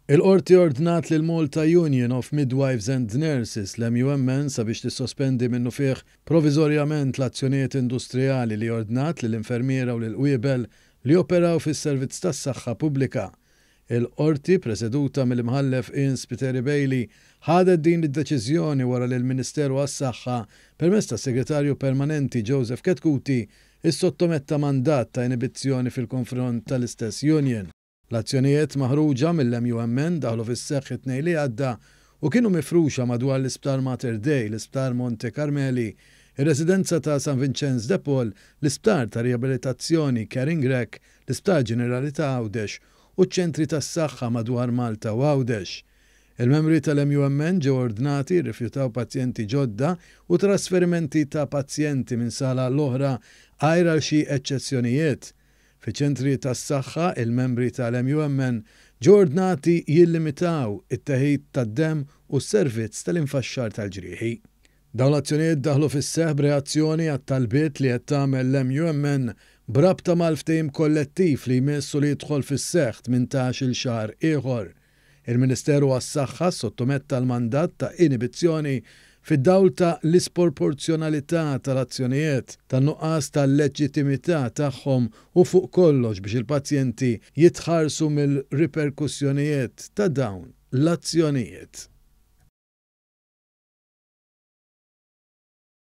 Il-Qorti ordnat lill-Malta Union of Midwives and Nurses, l-MUMN, sabiex tissospendi minnufih proviżorjament l-azzjonijiet industrijali li ordnat lill-infermiera u lill-qwiebel li joperaw fis-servizz tas-saħħa pubblika. Il-Qorti, preseduta mill-Imħallef Ian Spiteri Bailey, ħadet din id-deċiżjoni wara li l-Ministeru għas-Saħħa, permezz tas-Segretarju Permanenti Joseph Chetcuti, issottometta mandat ta' inibizzjoni fil-konfront tal-istess union. L-azzjonijiet maħruġa mill-MUMN daħlu fis-seħħ it-Tnejn li għadda u kienu mifruxa madwar l-Isptar Mater Dei, l-Isptar Monte Carmeli, ir-Residenza ta' San Vinċenz de Paul, l-Isptar ta' Riabilitazzjoni Caring Rec, l-Isptar Ġenerali ta' Għawdex u ċ-ċentri tas-saħħa madwar Malta u Għawdex. Il-membri tal-MUMN ġew ordnati jirrifjutaw pazjenti ġodda u trasferimenti ta' pazjenti minn sala għal oħra għajr għal xi eċċezzjonijiet. Fiċ-ċentri tas-saħħa, il-membri tal-MUMN ġew ordnati jillimitaw it-teħid tad-demm u s-servizz tal-infaxxar tal-ġrieħi. Dawn l-azzjonijiet daħlu fis-seħħ b'reazzjoni għat-talbiet li qed tagħmel l-MUMN b'rabta mal-ftehim kollettiv li jmiss u li jidħol fis-seħħ 18-il xahar ieħor. Il-Ministeru għas-Saħħa ssottometta l-mandat ta' inibizzjoni fid-dawl ta' l-isporporzjonalità tal-azzjonijiet, tan-nuqqas ta' leġġitimità tagħhom u fuq kollox biex il-pazjenti jitħarsu mill-riperkussjonijiet ta' dawn l-azzjonijiet.